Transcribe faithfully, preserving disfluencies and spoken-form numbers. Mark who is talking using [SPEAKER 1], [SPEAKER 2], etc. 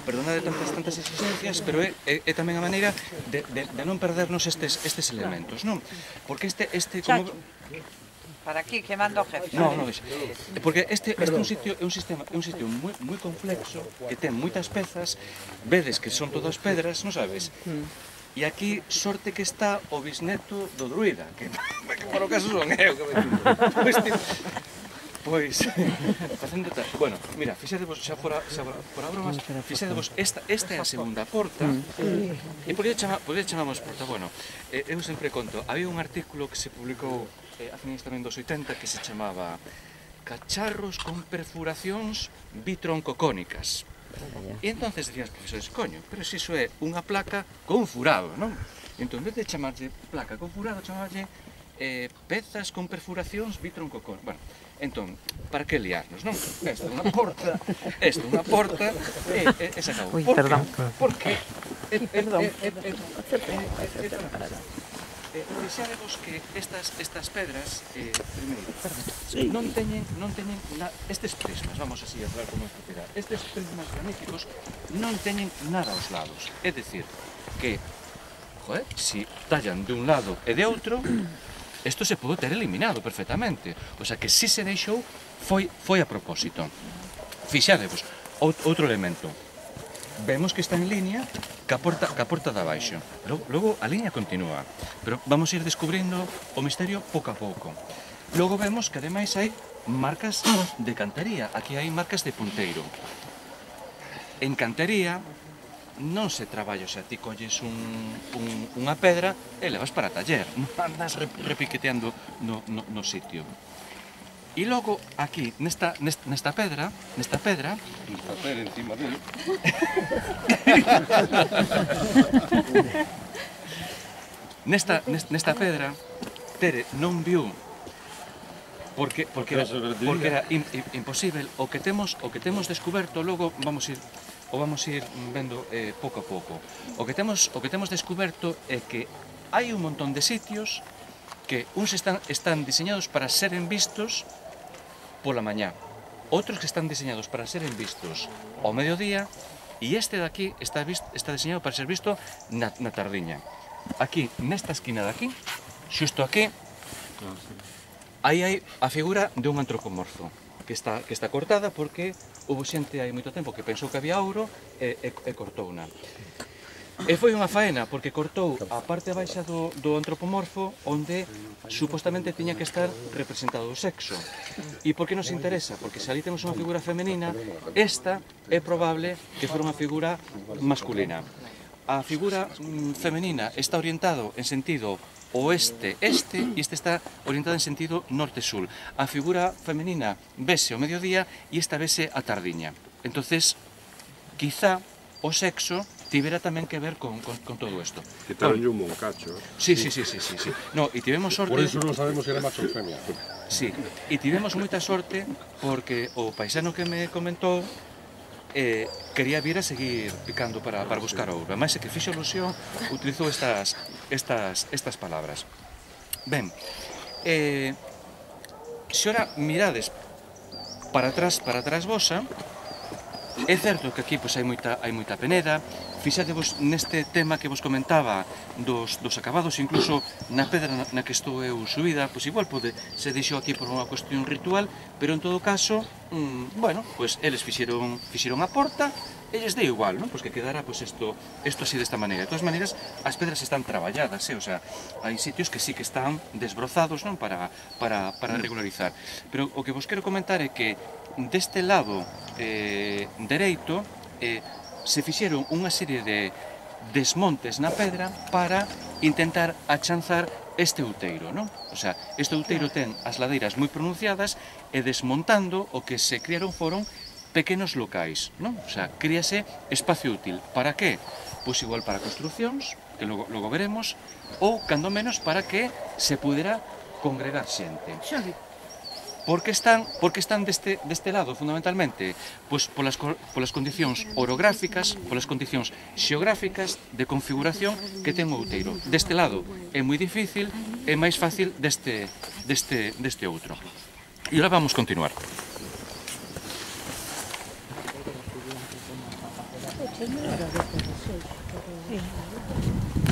[SPEAKER 1] perdonade tantas tantas exigencias, pero é, é, é tamén a maneira de, de, de non perdernos estes, estes elementos, non? Porque este, este como...
[SPEAKER 2] Para aquí, que mando o jefe.
[SPEAKER 1] No, no, porque este, este é un sitio, é un sistema, é un sitio moi, moi complexo, que ten moitas pezas, vedes que son todas pedras, non sabes? E aquí, sorte que está o bisneto do druida, que, que por o caso son eu, que me digo. Pois, facendo tal... Bueno, mira, fixadevos, xa fora, xa fora, fora bromas, fixadevos, esta, esta é a segunda porta, e por que chama, chamamos porta? Bueno, eh, eu sempre conto, había un artículo que se publicou eh, a finais tamén dos oitenta que se chamaba Cacharros con perfuracións bitroncocónicas. E entonces dicías, profesores, coño, pero se iso é unha placa con furado, non? Entón, en vez de chamarlle placa con furado, chamarlle eh, pezas con perfuracións bitroncocónicas. Bueno, entón, para que liarnos, non? Esta é unha porta, esta é unha porta, e, e, e se acabou.
[SPEAKER 2] Ui, perdón.
[SPEAKER 1] Porque...
[SPEAKER 2] Perdón.
[SPEAKER 1] Fixadevos que estas, estas pedras, eh, primeiro, non teñen, non teñen na, estes prismas, vamos así a falar con máis propiedade, estes prismas graníticos non teñen nada aos lados, é dicir, que, joder, si tallan de un lado e de outro, isto se pode ter eliminado perfectamente, o sea que si se deixou, foi, foi a propósito. Fixadevos, outro elemento, vemos que está en línea ca porta, ca porta de abaixo. Logo, logo a línea continúa, pero vamos a ir descubrindo o misterio pouco a pouco. Logo vemos que ademais hai marcas de cantería, aquí hai marcas de punteiro. En cantería non se traballa, o sea, ti colles un, un, unha pedra e levas para taller, non andas repiqueteando no, no, no sitio. E logo, aquí, nesta, nesta, nesta pedra, nesta pedra... Nesta pedra encima dele... nesta, nesta pedra, Tere non viu, porque, porque era, porque era in, in, imposible, o que temos, o que temos descoberto, logo vamos ir, o vamos ir vendo eh, pouco a pouco. O que temos, o que temos descoberto é que hai un montón de sitios que uns están, están diseñados para seren vistos pola mañá, outros que están diseñados para seren vistos ao mediodía, e este de aquí está, visto, está diseñado para ser visto na, na tardiña. Aquí, nesta esquina de aquí, xusto aquí, aí hai a figura de un antropomorfo, que está, que está cortada porque houve xente hai moito tempo que pensou que había ouro e, e, e cortouna. E foi unha faena, porque cortou a parte baixa do, do antropomorfo onde supostamente tiña que estar representado o sexo. E por que nos interesa? Porque se ali temos unha figura femenina, esta é probable que fora unha figura masculina. A figura mm, femenina está orientado en sentido oeste-este e este está orientado en sentido norte-sul. A figura femenina vese ao mediodía e esta vese a tardiña. Entonces, quizá o sexo tivera tamén que ver con, con, con todo isto.
[SPEAKER 3] Quitaronlle un moncacho.
[SPEAKER 1] Sí, sí, sí, sí, sí, sí. No, e tivemos sorte...
[SPEAKER 3] Por eso non sabemos se era macho ou femia.
[SPEAKER 1] Sí, e tivemos moita sorte porque o paisano que me comentou eh, quería vir a seguir picando para, para buscar ouro. Ademais, é que fixo ilusión, utilizou estas, estas, estas palabras. Ben, eh, se ora mirades para atrás, para atrás vosa, é certo que aquí pois, hai, moita, hai moita peneda. Fixadevos neste tema que vos comentaba dos, dos acabados, incluso na pedra na, na que estou eu subida, pois igual pode se deixou aquí por unha cuestión ritual, pero en todo caso, mmm, bueno, pois eles fixeron, fixeron a porta, e lles deu igual, non? Pois que quedara pois isto, isto así desta maneira. De todas maneiras, as pedras están traballadas, eh? O sea, hai sitios que sí que están desbrozados, non? Para, para, para regularizar. Pero o que vos quero comentar é que deste lado eh, dereito, eh, se fixeron unha serie de desmontes na pedra para intentar achanzar este outeiro, non? O sea, este outeiro ten as ladeiras moi pronunciadas e desmontando o que se criaron foron pequenos locais, non? O sea, críase espacio útil. Para que? Pois igual para construcións, que logo, logo veremos, ou, cando menos, para que se pudera congregar xente. Por que están, por que están deste, deste lado, fundamentalmente? Pois polas, polas condicións orográficas, polas condicións xeográficas de configuración que ten o outeiro. Deste lado é moi difícil, é máis fácil deste, deste, deste outro. E agora vamos continuar.
[SPEAKER 4] Señora, de deseos, pero...